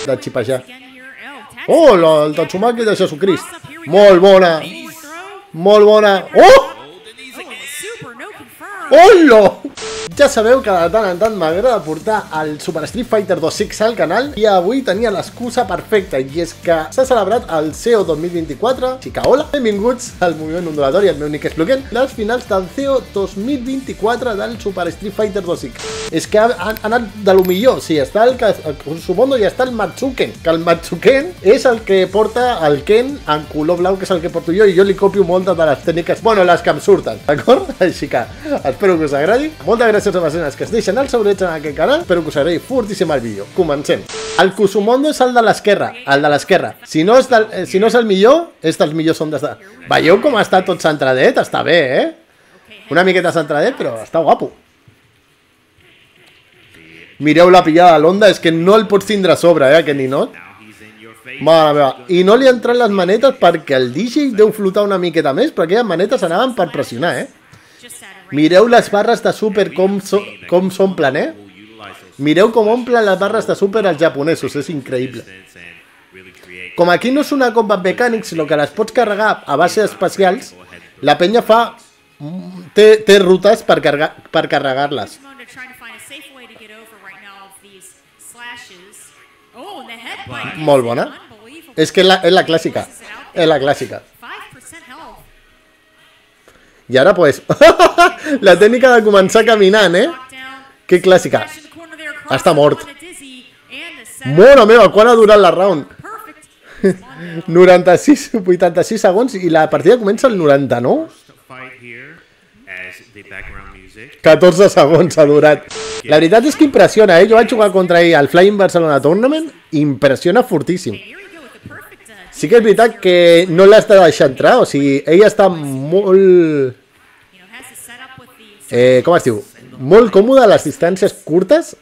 de xipejar. Oh, el Tatsumaki de Jesucrist. Molt bona. Molt bona. Oh! Hola! Ja sabeu que de tant en tant m'agrada portar el Super Street Fighter 2X al canal i avui tenia l'excusa perfecta i és que s'ha celebrat el CEO 2024. Xica, hola! Benvinguts al moviment ondulatori, el meu nick és Pluken. Les finals del CEO 2024 del Super Street Fighter 2X. És que ha anat de lo millor. Sí, està el Kusumondo i està el Matsuken. Que el Matsuken és el que porta el Ken en color blau, que és el que porto jo, i jo li copio moltes de les tècniques, bueno, les que em surten, d'acord? Així que espero que us agradi. Moltes gràcies a les persones que es deixen el saurets en aquest canal. Espero que us agradi fortíssim el vídeo. Comencem. El Kusumondo és el de l'esquerra. El de l'esquerra. Si no és el millor, és dels millors ondes de... Veieu com està tot centradet? Està bé, Una miqueta centradet, però està guapo. Mireu la pillada de l'onda, és que no el pots tindre a sobre, aquest ninot. Mare meva. I no li han entrat les manetes perquè el DJ deu flotar una miqueta més, però aquelles manetes anaven per pressionar, Mireu les barres de super com s'omplen, Mireu com omplen les barres de super els japonesos, és increïble. Com aquí no és una Combat Mechanics, sinó que les pots carregar a base especials, la penya fa... té rutes per carregar-les. Molt bona. És que és la clàssica. És la clàssica. I ara, pues, la tècnica de començar caminant, Que clàssica. Està mort. Mare meva, quan ha durat la round? 86 segons i la partida comença al 99? 14 segons ha durat. La veritat és que impressiona, Jo vaig jugar contra ell al Flying Barcelona Tournament. Impressiona fortíssim. Sí que és veritat que no l'has de deixar entrar, o sigui, ell està molt... com es diu? Molt còmode a les distàncies curtes,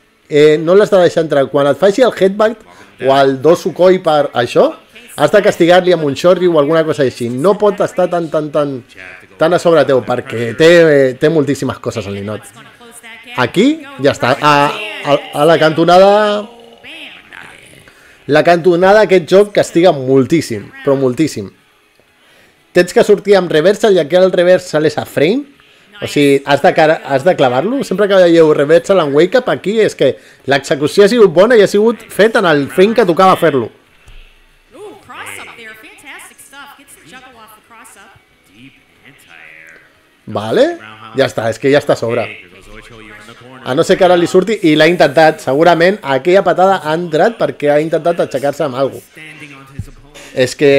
no l'has de deixar entrar. Quan et faci el headbutt o el dosukoi per això, has de castigar-li amb un shoryu o alguna cosa així. No pot estar tan a sobre teu, perquè té moltíssimes coses al ninot. Aquí, ja està. A la cantonada... La cantonada d'aquest joc castiga moltíssim, però moltíssim. Tens que sortir amb reversal i aquí el reversal és a frame. O sigui, has de clavar-lo. Sempre que veieu reversal en wake up, aquí és que l'execució ha sigut bona i ha sigut fet en el frame que tocava fer-lo. Vale, ja està, és que ja està a sobre. A no ser que ara li surti, i l'ha intentat. Segurament aquella patada ha entrat perquè ha intentat aixecar-se amb alguna cosa. És que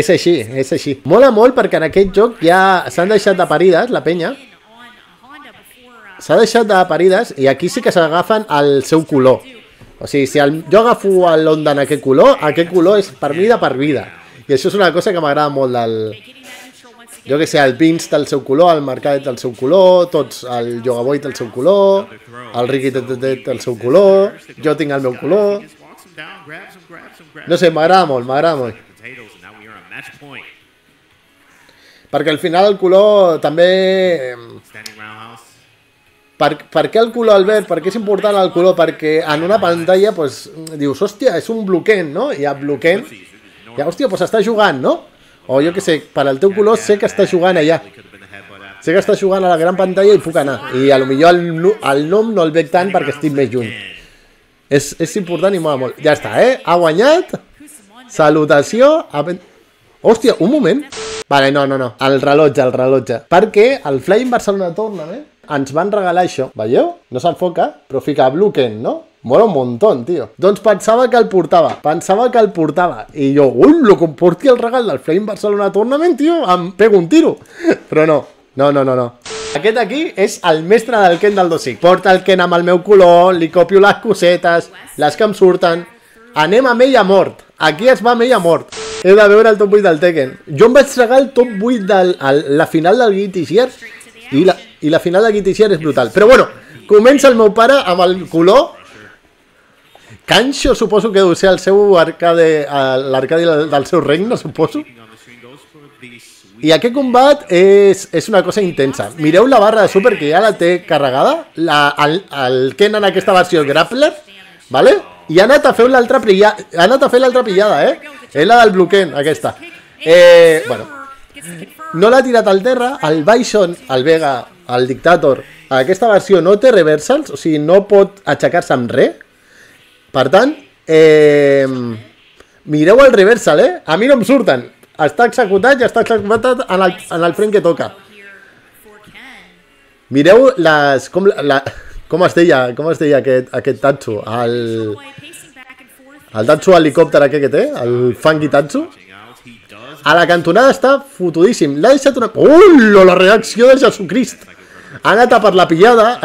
és així, és així. Mola molt perquè en aquest joc ja s'han deixat de parides, la penya. S'ha deixat de parides i aquí sí que s'agafen el seu color. O sigui, si jo agafo l'onda en aquest color és per mi de per vida. I això és una cosa que m'agrada molt del... Jo que sé, el Vince té el seu color, el Marcadet té el seu color, tots, el Yogaboy té el seu color, el Ricky té el seu color, jo tinc el meu color. No sé, m'agrada molt, Perquè al final el color també... Per què el color, Albert? Per què és important el color? Perquè en una pantalla, doncs, dius, hòstia, és un bloquent, no? I a bloquent, ja, hòstia, doncs està jugant, no? O jo que sé, per al teu color sé que està jugant allà. Sé que està jugant a la gran pantalla i puc anar. I potser el nom no el veig tant perquè estic més lluny. És important i mola molt. Ja està, Ha guanyat. Salutació. Hòstia, un moment. Vale, no. El rellotge. Perquè el Flying Barcelona Tournament ens van regalar això. Veieu? No s'enfoca, però fica Bluken, no? Mola un montón, tio. Doncs pensava que el portava. I jo, lo que em porti el regal del Flying Barcelona Tournament, tio, em pego un tiro. Però no. Aquest aquí és el mestre del Ken del 2X. Porta el Ken amb el meu color, li copio les cosetes, les que em surten. Anem a ella mort. Aquí es va amb ella mort. He de veure el top 8 del Tekken. Jo em vaig regar el top 8 de la final del Guilty Gear i la final del Guilty Gear és brutal. Però bueno, comença el meu pare amb el color... Kancho suposo que deu ser el seu arcade, l'arcadi del seu regne, suposo. I aquest combat és una cosa intensa. Mireu la barra de super que ja la té carregada. El Ken en aquesta versió grappler, ¿vale? I ha anat a fer l'altra pillada, És la del bloquent, aquesta. Bueno, no l'ha tirat al terra, el Bison, el Vega, el Dictator, aquesta versió no té reversals, o sigui, no pot aixecar-se amb res. Per tant, mireu el reversal, A mi no em surten. Està executat i està executat en el frame que toca. Mireu les... Com es deia aquest Tatsu? El Tatsu helicòpter aquest que té, el Funky Tatsu. A la cantonada està fotudíssim. L'ha deixat una... La reacció de Jesucrist! Ha anat a per la pillada,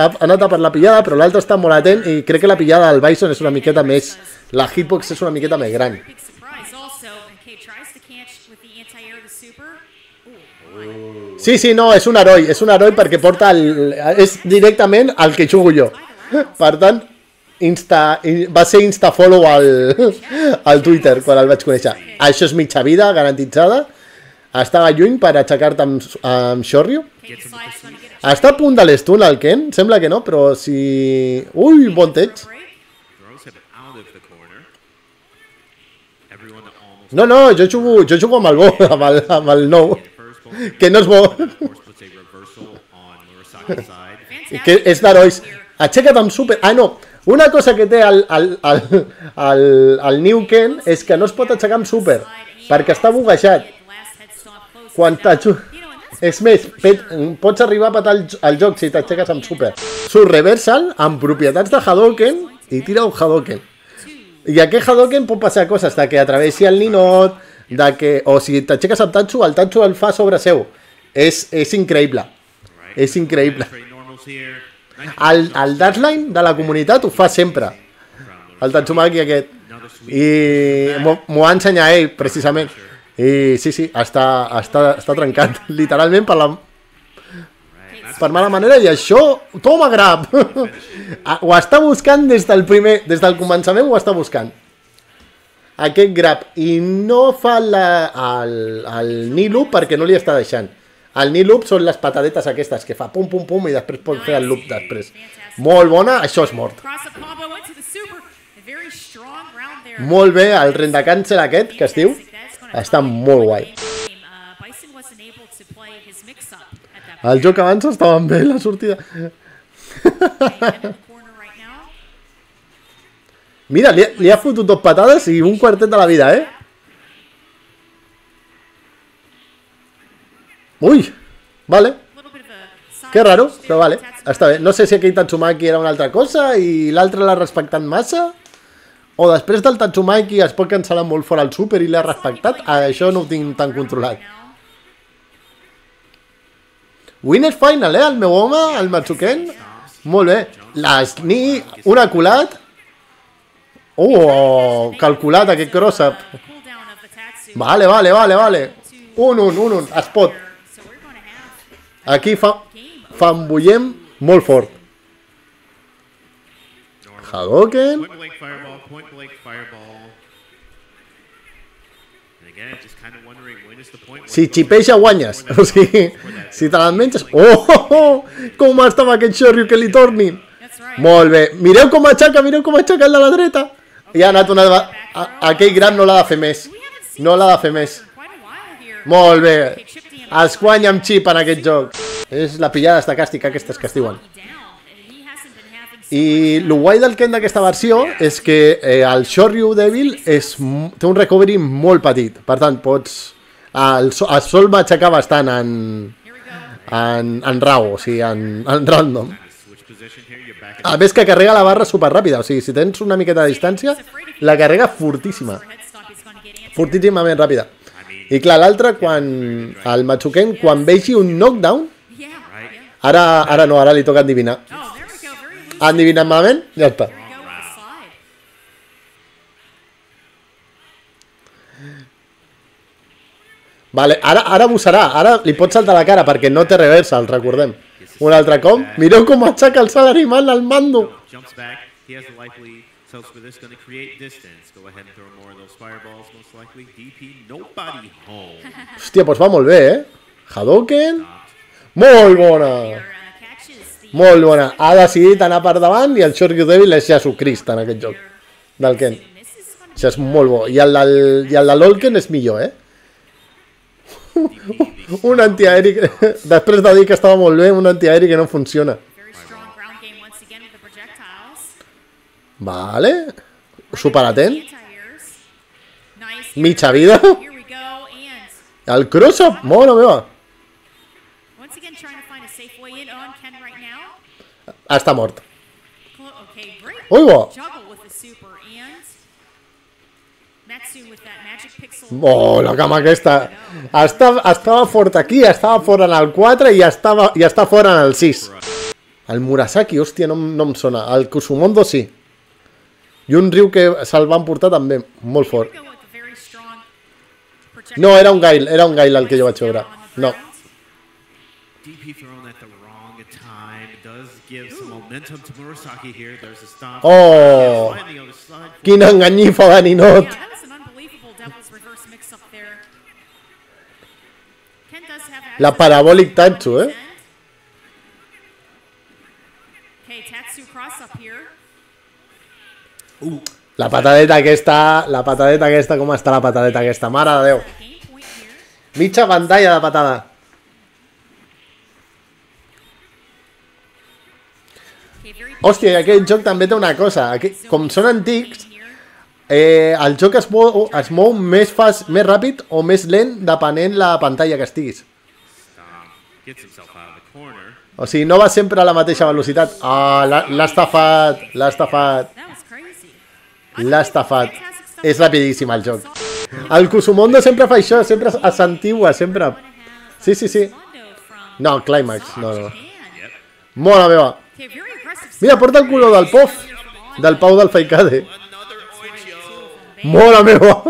però l'altre està molt atent i crec que la pillada del Bison és una miqueta més... La hitbox és una miqueta més gran. Sí, no, és un heroi perquè porta és directament el que jugo jo. Per tant, va ser insta-follow al Twitter quan el vaig conèixer. Això és mitja vida, garantitzada. Estava lluny per aixecar-te amb Shoryu. Està a punt de l'estun el Ken, sembla que no, però si... Ui, bon tech. No, jo jugo amb el bo, amb el nou. Que no és bo. Que és d'herois. Aixeca't amb super... Ah, no. Una cosa que té el New Ken és que no es pot aixecar amb super, perquè està buguejat. Quan és més, pots arribar a patar el joc si t'aixeques amb super. Surt reversal amb propietats de Hadoken i tira un Hadoken. I aquest Hadoken pot passar coses, de que atravessi el ninot, o si t'aixeques amb Tatsu, el Tatsu el fa sobre seu. És increïble. És increïble. El Darsline de la comunitat ho fa sempre. El Tatsumaki aquest. I m'ho va ensenyar ell, precisament. I sí, està trencat. Literalment per mala manera. I això, toma grab. Ho està buscant des del començament, ho està buscant. Aquest grab. I no fa el knee loop perquè no li està deixant. El knee loop són les patadetes aquestes que fa pum pum pum i després pot fer el loop després. Molt bona, això és mort. Molt bé, el rendacàncer aquest que es diu està molt guai. El joc abans estava bé, la sortida. Mira, li ha fotut 2 patades i un quartet de la vida, Ui, vale. Que raro, però vale, està bé. No sé si aquell Tatsumaki era una altra cosa i l'altre l'ha respectat massa, o després del Tatsumaki es pot cancel·lar molt fora el super i l'ha respectat. Això no ho tinc tan controlat. Winner final, el meu home, el Matsuken. Molt bé. L'Sni, un aculat. Calculat aquest cross-up. Vale. Un, spot. Aquí fambullem molt fort. Hadoken. Si xipeja guanyes. O sigui, si te l'enmenges... Com estava aquest Shoryu que li tornin. Molt bé. Mireu com aixeca el de la dreta. I ha anat una... Aquell gran no l'ha de fer més. Molt bé. Es guanya amb xip en aquest joc. És la pillada estacàstica aquestes que es diuen. I el guai del Ken d'aquesta versió és que el Shoryu Devil té un recovery molt petit. Per tant, el sol va aixecar bastant en RAW, o sigui, en random. A més que carrega la barra superràpida. O sigui, si tens una miqueta de distància, la carrega fortíssima. Fortíssimament ràpida. I clar, l'altre, el Matsuken, quan vegi un knockdown, ara no, ara li toca endivinar. Ha endivinat malament? Ja està. Vale, ara bussarà, ara li pot saltar la cara perquè no té reversal, recordem. Un altre cop. Mireu com aixeca el Salaryman al mando. Hòstia, doncs va molt bé, Hadoken. Molt bona. Molt bona. Ha decidit anar per davant i el Shoryu Devil és Jesucrist en aquest joc. del Ken. Això és molt bo. I el de l'Olken és millor, Un antiaeri... Després de dir que estava molt bé, un antiaeri que no funciona. Vale. Superatent. Mitja vida. El cross-up, mona meva. Està mort. Ui, bo. Oh, la cama aquesta. Estava fort aquí, estava fora en el 4 i està fora en el 6. El Murasaki, hòstia, no em sona. El Kusumondo sí. I un riu que se'l van portar també, molt fort. No, era un Gail el que jo vaig veure. No. Oh! Quina enganyifa de ninot! La Parabolic Tatsu, La patadeta aquesta, com està la patadeta aquesta? Mare de Déu. Mitja pantalla de patada. Hòstia, i aquest joc també té una cosa. Com són antics, el joc es mou més ràpid o més lent depenent la pantalla que estiguis. O sigui, no va sempre a la mateixa velocitat. Ah, l'ha estafat. És rapidíssim el joc. El Kusumondo sempre fa això, sempre s'antigua, sempre. Sí. No, Climax, no. Mona meva. Mira, porta el color del POF, del Pau del Faikade. Mona meva.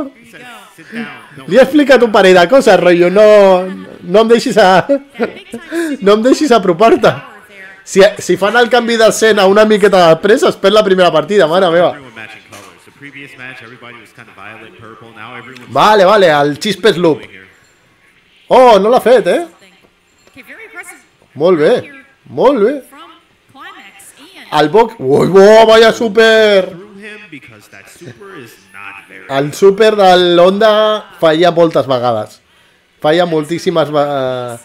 Li he explicat un parell de coses, rotllo, no em deixis apropar-te. Si fan el canvi d'escena una miqueta després, es perd la primera partida, mare meva. Vale, el Chispes Loop. Oh, no l'ha fet, Molt bé. El Boc... Ui, vaya super! El super de l'Honda falla moltes vegades. Falla moltíssimes vegades.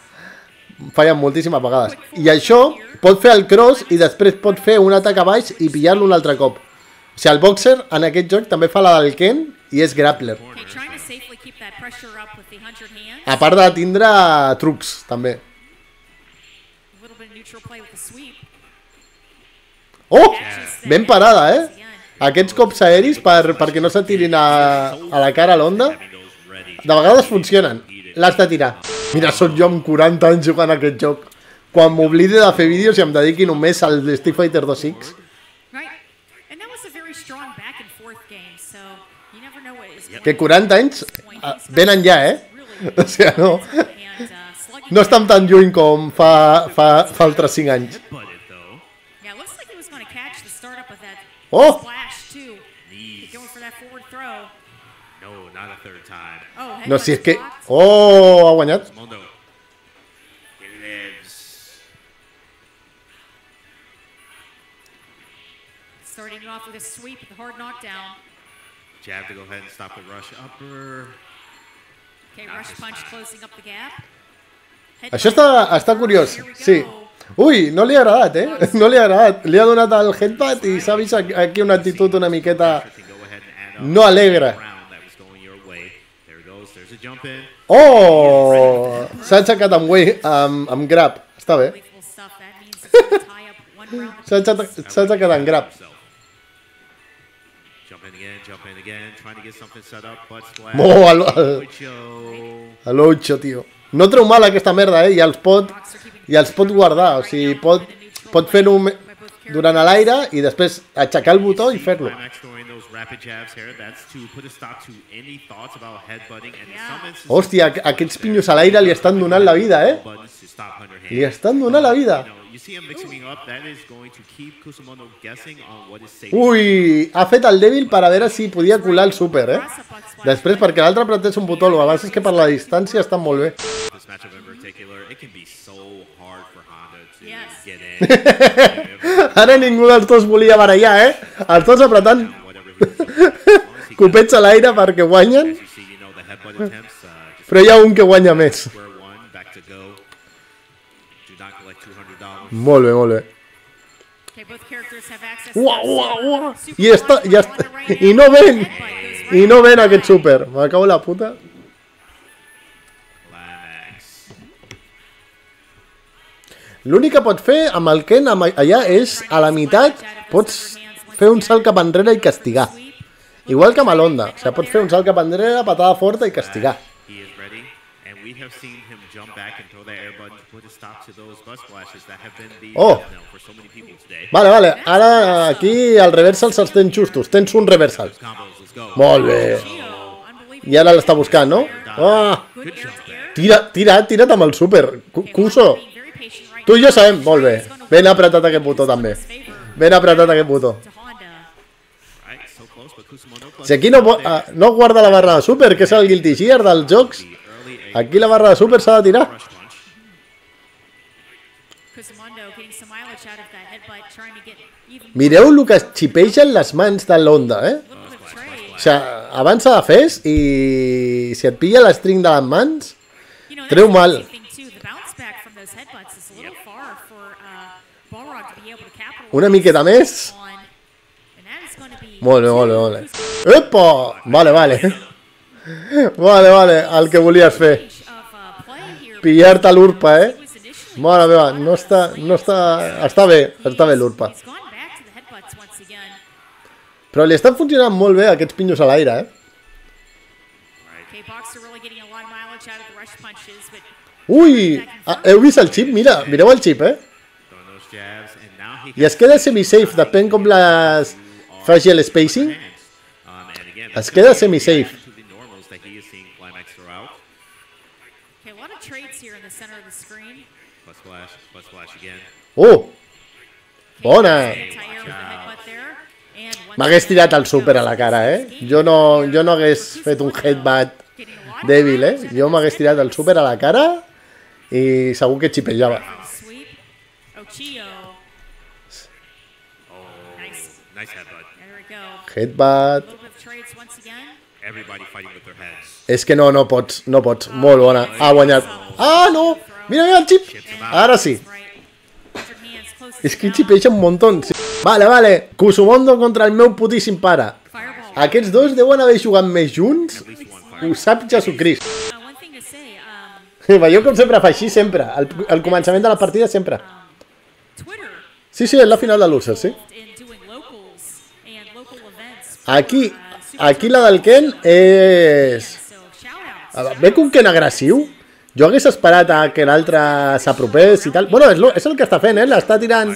I això pot fer el cross i després pot fer un atac a baix i pillar-lo un altre cop. O sigui, el Boxer en aquest joc també fa la del Ken i és grappler. A part de tindre trucs, també. Oh! Ben parada, Aquests cops aeris perquè no s'atirin a la cara a l'Honda, de vegades funcionen. L'has de tirar. Mira, soc jo amb 40 anys jugant a aquest joc. Quan m'oblide de fer vídeos i em dediqui només al Street Fighter 2X. Que 40 anys venen ja, O sigui, no estan tan lluny com fa altres 5 anys. Oh! No, si és que... Oh, ha guanyat. Això està curiós, sí. Ui, no li ha agradat, No li ha agradat. Li ha donat el headbutt i s'ha vist aquí una actitud una miqueta no alegre. Oh! S'ha aixecat amb grab. Està bé. S'ha aixecat amb grab. A l'8, tio. No treu mal aquesta merda, i els pot guardar. O sigui, pot fer-ho durant l'aire i després aixecar el botó i fer-lo. Hòstia, aquests pinyos a l'aire li estan donant la vida, Li estan donant la vida. Ui, ha fet el dèbil per a veure si podia colar el super, Després, perquè l'altre apretés un botó, el que passa és que per la distància estan molt bé. Ara ningú dels dos volia barallar, Els dos apretant Copets a l'aire perquè guanyen. Però hi ha un que guanya més. Molt bé, molt bé. Uau. I ja està. I no ven. I no ven aquest súper. M'acabo la puta. L'únic que pot fer amb el Ken allà és, a la meitat, pots fer un salt cap enrere i castigar. Igual que amb l'Onda. O sigui, pots fer un salt cap enrere, patada forta i castigar. Oh! Vale. Ara aquí el reversal se'ls tens justos. Tens un reversal. Molt bé. I ara l'està buscant, no? Oh! Tira't amb el súper. Cuso. Tu i jo sabem. Molt bé. Ben apretat aquest botó també. Ben apretat aquest botó. Si aquí no guarda la barra de súper, que és el Guilty Gear dels jocs, aquí la barra de súper s'ha de tirar. Mireu el que es xipegen les mans de l'Onda, O sigui, abans s'ha de fes i si et pilla l'estring de les mans, treu mal. Una miqueta més. Molt bé. Epa! Vale. Vale, el que volies fer. Pillar-te l'urpa, Mare meva, no està... Està bé l'urpa. Però li estan funcionant molt bé aquests pinyos a l'aire, Ui! Heu vist el xip? Mireu el xip, I es queda semi-safe, depèn com les faci el spacing. Es queda semi-safe. Oh! Bona! M'hagués tirat el súper a la cara, Jo no hagués fet un headbutt dèbil, Jo m'hagués tirat el súper a la cara i segur que xipejava. Headbutt. És que no pots. Molt bona. Ha guanyat. Ah, no! Mira el xip. Ara sí. És que xipeja un muntó. Vale. Kusumondo contra el meu putíssim pare. Aquests dos deuen haver jugat més junts. Ho sap Jesucrist. Veieu com sempre fa així, sempre. Al començament de la partida, sempre. Sí, és la final de l'Ursa, sí. Aquí la del Ken és... Ve un Ken agressiu. Jo hagués esperat a que l'altre s'apropés i tal. Bueno, és el que està fent, l'està tirant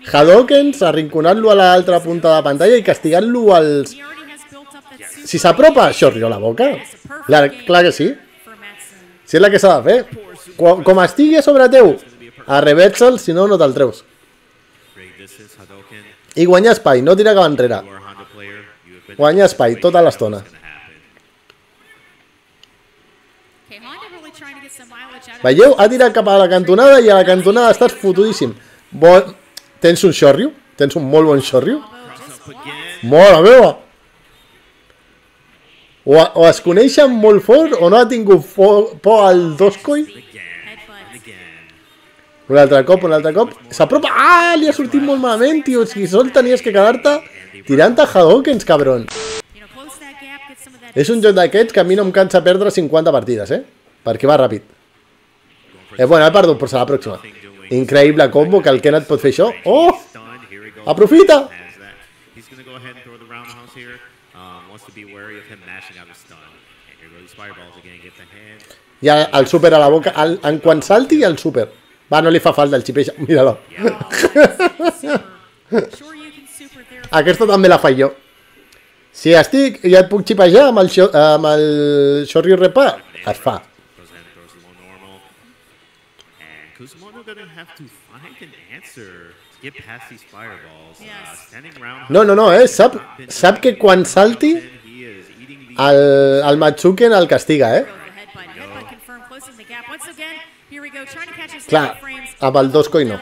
Hadokens, arrinconant-lo a l'altra punta de la pantalla i castigant-lo als... Si s'apropa, xorrio la boca. Clar que sí. Si és la que s'ha de fer. Com estigui a sobre teu, arreversa'l, si no, no te'l treus. I guanyar espai, no tirar cap enrere. Guanyar espai tota l'estona. Veieu? Ha tirat cap a la cantonada i a la cantonada estàs fotudíssim. Tens un xorrio? Tens un molt bon xorrio? Mare meva! O es coneixen molt fort o no ha tingut por al Doskoi. Un altre cop. S'apropa. Ah, li ha sortit molt malament, tio. Si sol tenies que quedar-te tirant a Hadokens, cabron. És un joc d'aquests que a mi no em cansa perdre 50 partides, perquè va ràpid. Bueno, he perdut, però serà la pròxima. Increïble combo, que el Ken et pot fer això. Oh! Aprofita! I el súper a la boca. En quan salti, el súper. Va, no li fa falta el xipeja. Mira-lo. Aquesta també la faig jo. Si estic i et puc xipejar amb el Shoryu Repa, es fa. No, sap que quan salti el Matsuken el castiga, Clar, amb el Doskoi no.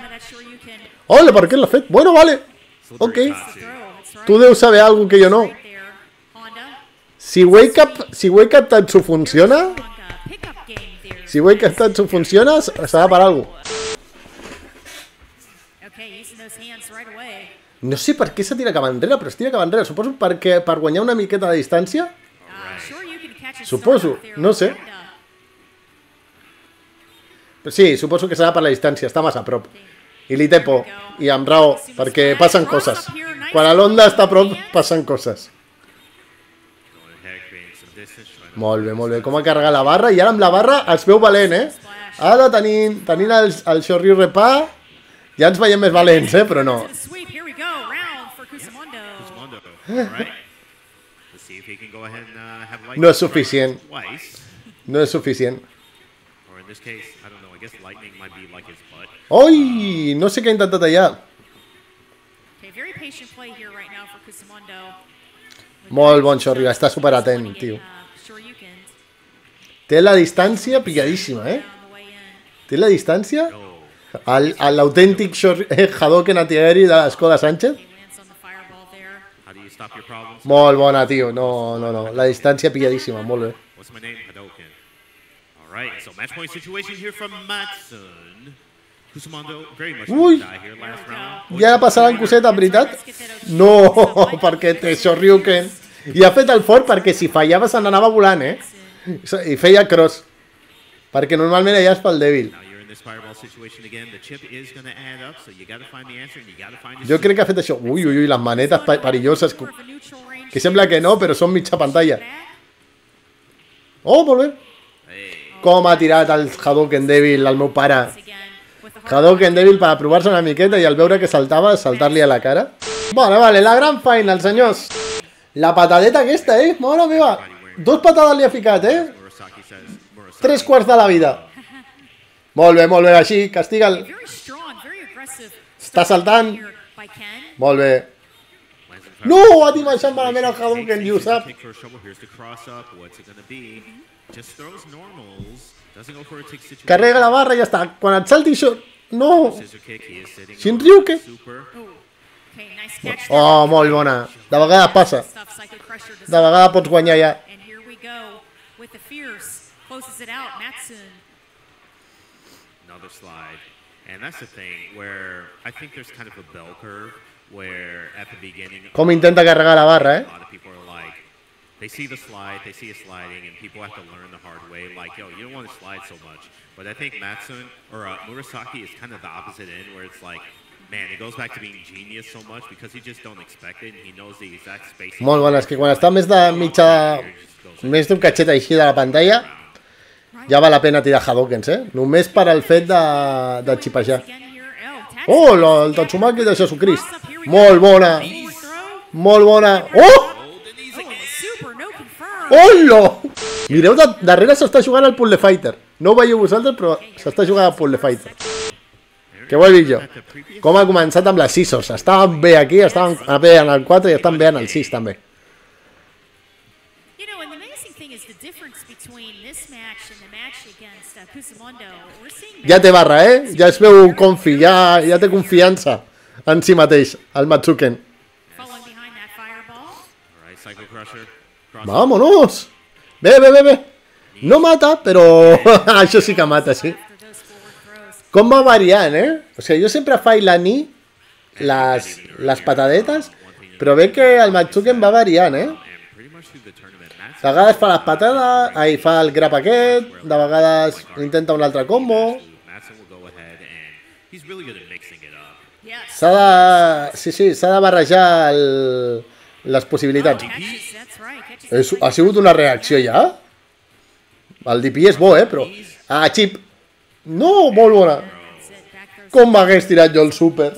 Hola, per què l'ha fet? Bueno, vale. Ok. Tu deus saber alguna que jo no. Si Wake Up Tatsu funciona... Si Wake Up Tatsu funciona, serà per alguna cosa. No sé per què se tira cap enrere, però es tira cap enrere. Suposo perquè per guanyar una miqueta de distància. Suposo, no sé. Sí, suposo que serà per la distància, està massa a prop. I li té por, i amb raó, perquè passen coses. Quan l'onda està a prop, passen coses. Molt bé, com ha carregat la barra, i ara amb la barra es veu valent, Ara tenint el Shoryu Repa, ja ens veiem més valents, però no. No és suficient. No és suficient. Oi! No sé què ha intentat allà. Molt bon Shoryu, està superatent, tio. Té la distància pilladíssima, Té la distància. L'autèntic Hadoken Atieri de l'Escola Sánchez. Molt bona, tio. No. La distància pilladíssima, molt bé. Ui! Ja passaran coseta, en veritat? No, perquè té Shoryuken. I ha fet el fort perquè si fallava se n'anava volant, I feia cross. Perquè normalment allà és pel dèbil. Jo crec que ha fet això. Ui, les manetes perilloses. Que sembla que no, però són mitja pantalla. Oh, molt bé. Com ha tirat el Hadoken dèbil al meu pare. Hadoken dèbil per provar-se una miqueta i al veure que saltava, saltar-li a la cara. Vale, la gran final, senyors. La patadeta aquesta, mare meva. 2 patades li ha ficat, 3 quarts de la vida. Molt bé, així, castiga'l. Està saltant. Molt bé. No, ha dimensionat malament el Hadouken, i ho sap. Carrega la barra i ja està. Quan et salti això... No! Shinryuken. Oh, molt bona. De vegades passa. De vegades pots guanyar ja. Another slide. And that's the thing where I think there's kind of a bell curve where at the beginning com intenta carregar la barra, a lot of people are like they see the slide, they see it sliding and people have to learn the hard way like, yo, you don't want to slide so much. But I think Matsuen or Murasaki is kind of the opposite end where it's like, man, it goes back to being genius so much because he just don't expect it and he knows the exact space. Molt bona, és que quan està més de mitja... més d'un catxet així de la pantalla ja val la pena tirar Hadokens, només per al fet de xipejar. Oh, el Tatsumaki de Jesucrist. Molt bona. Molt bona. Oh! Hola! Mireu, darrere s'està jugant el Puzzle Fighter. No ho veieu vosaltres, però s'està jugant el Puzzle Fighter. Què ho he vist jo? Com ha començat amb les Scissors. Estaven bé aquí, estaven bé en el 4 i estan bé en el 6 també. Ja té barra, ja es veu confi, ja té confiança en si mateix, el Matsuken. Vámonos! Bé. No mata, però això sí que mata, sí. Com va variant, O sigui, jo sempre faig la Ni, les patadetes, però veig que el Matsuken va variant, De vegades fa les patades, ahí fa el grab aquest, de vegades intenta un altre combo. S'ha de... Sí, s'ha de barrejar les possibilitats. Ha sigut una reacció ja? El DP és bo, però... Ah, Chip! No, molt bona! Com m'hagués tirat jo el súper?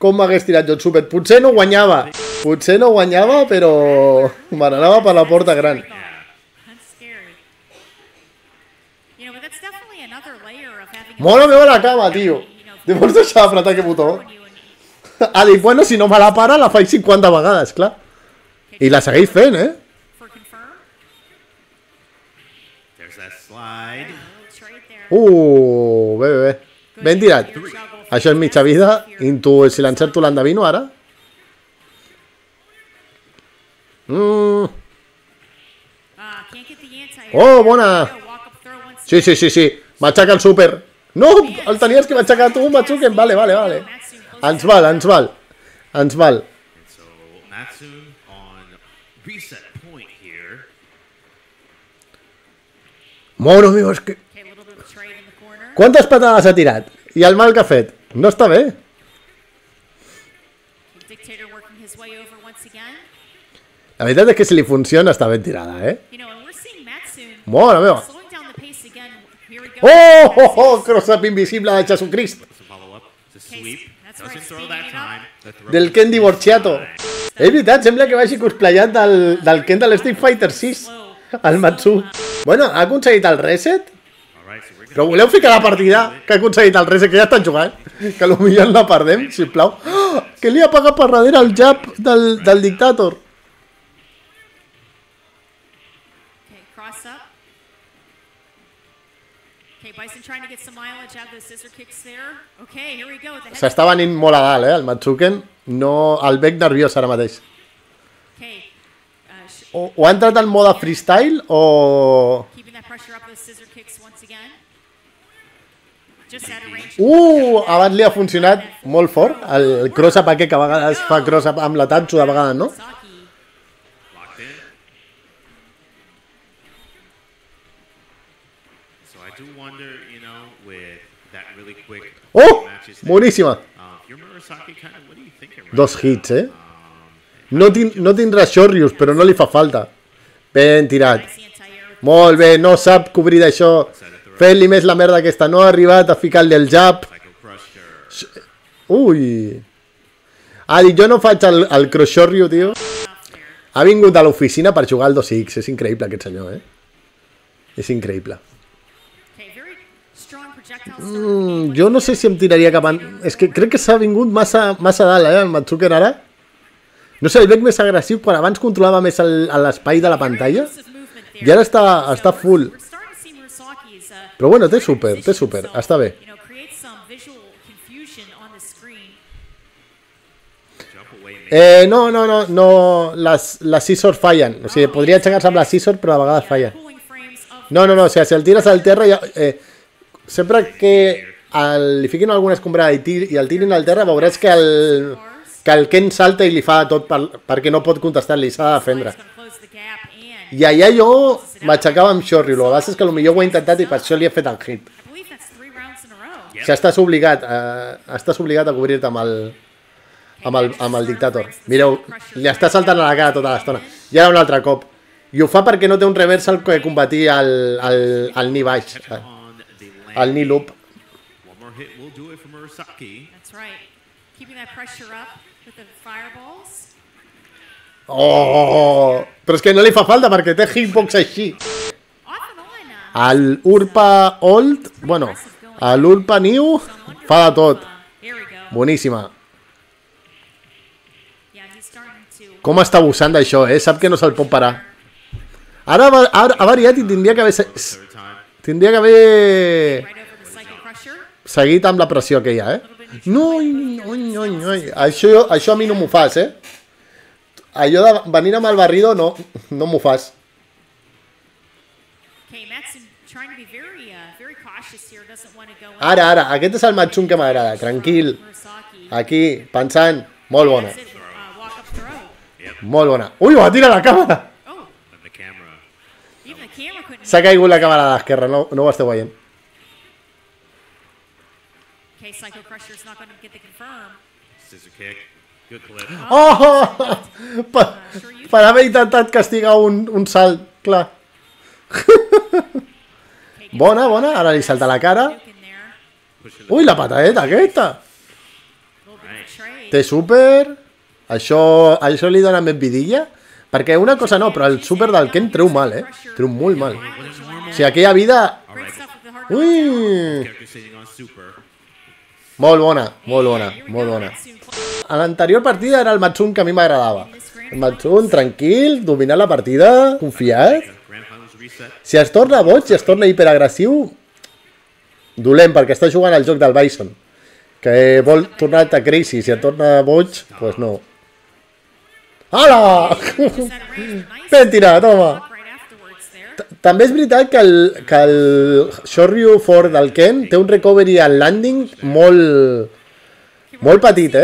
Com m'hagués tirat jo el súper? Potser no guanyava, però me n'anava per la porta gran. Mola meva la cama, tio. De vols deixar d'apretar aquest botó? Ha dit, bueno, si no me la para, la faig 50 vegades, clar. I la segueix fent, Bé. Ben tirat. Això és mitja vida. Si l'encerto l'endevino, ara. Oh, bona! Sí. M'aixeca el super. No, el tenies que m'aixecar tu, Matsuken. Vale. Ens val. And so Matsune on reset point here. Mono meu, és que... Quantes patades ha tirat? I el mal que ha fet? No està bé. La veritat és que si li funciona està ben tirada, Mora meva. Oh, cross-up invisible de Jesucrist. Del Ken divorciato. És veritat, sembla que vagi cosplayat del Ken del Street Fighter 6. El Matsu. Bueno, ha aconseguit el reset. Però voleu ficar la partida que ha aconseguit el reset, que ja estan jugant? Que potser la perdem, sisplau. Oh, que li ha pagat per darrere el jab del dictàtor. S'està venint molt a dalt, el Matsuken. No, el bec nerviós ara mateix. O ha entrat en mode freestyle o... Abans li ha funcionat molt fort el cross-up aquest, que a vegades fa cross-up amb la Tatsu, de vegades, no? Oh! Boníssima! 2 hits, No tindrà Shorrius, però no li fa falta. Ben tirat. Molt bé, no sap cobrir d'això. Fent-li més la merda aquesta. No ha arribat a ficar-li el jab. Ui. Ha dit, jo no faig el cross Shoryu, tio. Ha vingut a l'oficina per jugar al 2X. És increïble aquest senyor, És increïble. Jo no sé si em tiraria cap... És que crec que s'ha vingut massa dalt, el Matsuken ara. No sé, el veig més agressiu, quan abans controlava més l'espai de la pantalla. I ara està full. Però bueno, té super, està bé. No, les scissors fallen. O sigui, podria aixecar-se amb la scissor, però a vegades falla. No, o sigui, si el tires al terra... Sempre que li fiquin alguna escombrada i el tirin al terra, veuràs que el Ken salta i li fa tot perquè no pot contestar-li, s'ha de defendre. I allà jo m'aixecava amb Shoryu, el que passa és que potser ho he intentat i per això li he fet el hit. Si estàs obligat a cobrir-te amb el dictàtor. Mireu, li està saltant a la cara tota l'estona. I ara un altre cop. I ho fa perquè no té un reversal que combatir el ni baix. El ni loop. Oh, però és que no li fa falta perquè té hitbox així. El Urpa Old, bueno, l'Urpa New fa de tot. Boníssima. Com està abusant d'això, Sap que no se'l pot parar. Ara ha variat i tindria que haver seguit amb la pressió que hi ha, No, això a mi no m'ho fas, Allò de venir amb el barrido no m'ho fas. Ara, aquest és el Matsun que m'agrada, tranquil. Aquí, pensant, molt bona. Molt bona. Ui, va tirar la càmera! S'ha caigut la càmera de l'esquerra, no ho esteu veient. Oh! Per haver intentat castigar un salt, clar. Bona, ara li salta la cara. Ui, la patadeta aquesta! Té super. Això li dona més vidilla. Perquè una cosa no, però el super del Ken treu mal, Treu molt mal. O sigui, aquella vida... Ui! Molt bona. A l'anterior partida era el Matsun que a mi m'agradava. El Matsun, tranquil, dominant la partida, confiat. Si es torna boig, si es torna hiperagressiu, dolent, perquè està jugant al joc del Bison. Que vol tornar a crazy, si es torna boig, doncs no. Hola! Ben tirat, home! També és veritat que el Shoryu Ford del Ken té un recovery al landing molt petit,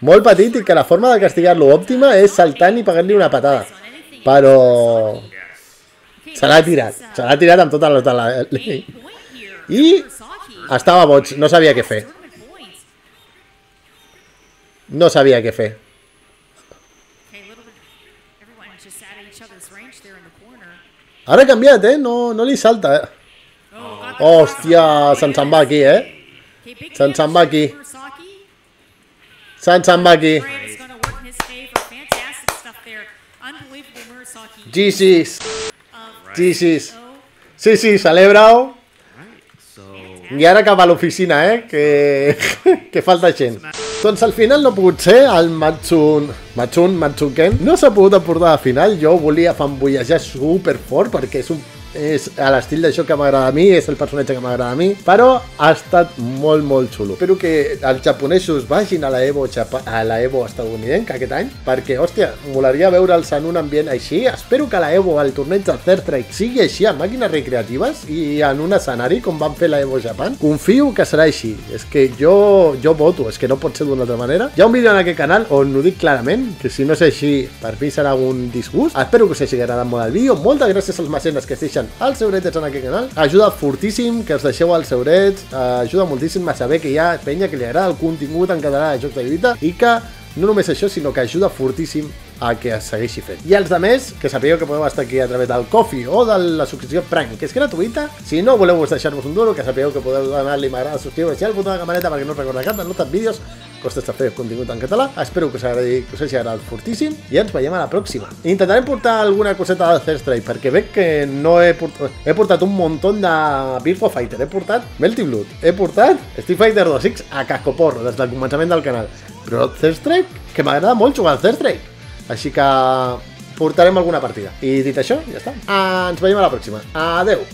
molt petit, i que la forma de castigar-lo òptima és saltant i pegar-li una patada. Però se l'ha tirat amb tota la... I estava boig, no sabia què fer. No sabia què fer. Ara ha canviat, no li salta, Hòstia, se'n va aquí, Se'n va aquí. Se'n va aquí. GG's. Sí, celebra-ho. I ara cap a l'oficina, que falta gent. Doncs al final no ha pogut ser el Matsuken. No s'ha pogut aportar al final. Jo volia fanboyejar superfort perquè és a l'estil d'això que m'agrada a mi, és el personatge que m'agrada a mi, però ha estat molt xulo. Espero que els japonesos vagin a la Evo estadounidenca aquest any, perquè, hòstia, molaria veure'ls en un ambient així. Espero que la Evo, el torneig del Third Strike, sigui així, amb màquines recreatives i en un escenari com van fer la Evo Japan. Confio que serà així. És que jo voto, és que no pot ser d'una altra manera. Hi ha un vídeo en aquest canal on ho dic clarament, que si no és així, per mi serà un disgust. Espero que us hagi agradat molt el vídeo. Moltes gràcies als mecenes que es deixen els eurets en aquest canal. Ajuda fortíssim que us deixeu els eurets, ajuda moltíssim a saber que hi ha penya que li agrada el contingut en català de jocs de lluita, i que no només això, sinó que ajuda fortíssim a que es segueixi fent. I els altres, que sapigueu que podeu estar aquí a través del Ko-fi o de la subscripció Prime, que és gratuïta. Si no voleu deixar-vos un duro, que sapigueu que podeu donar-li m'agrada, subscriure-vos i el botó de campaneta perquè no us recordeu cap dels nostres vídeos. Costa de fer contingut en català. Espero que us hagi agradat fortíssim i ens veiem a la pròxima. Intentarem portar alguna coseta del Third Strike, perquè veig que no he portat un muntó de Virtua Fighter, he portat Melty Blood, he portat Street Fighter 2X a cascoporro des del començament del canal, però Third Strike, que m'agrada molt jugar al Third Strike, així que portarem alguna partida. I dit això, ja està. Ens veiem a la pròxima. Adeu!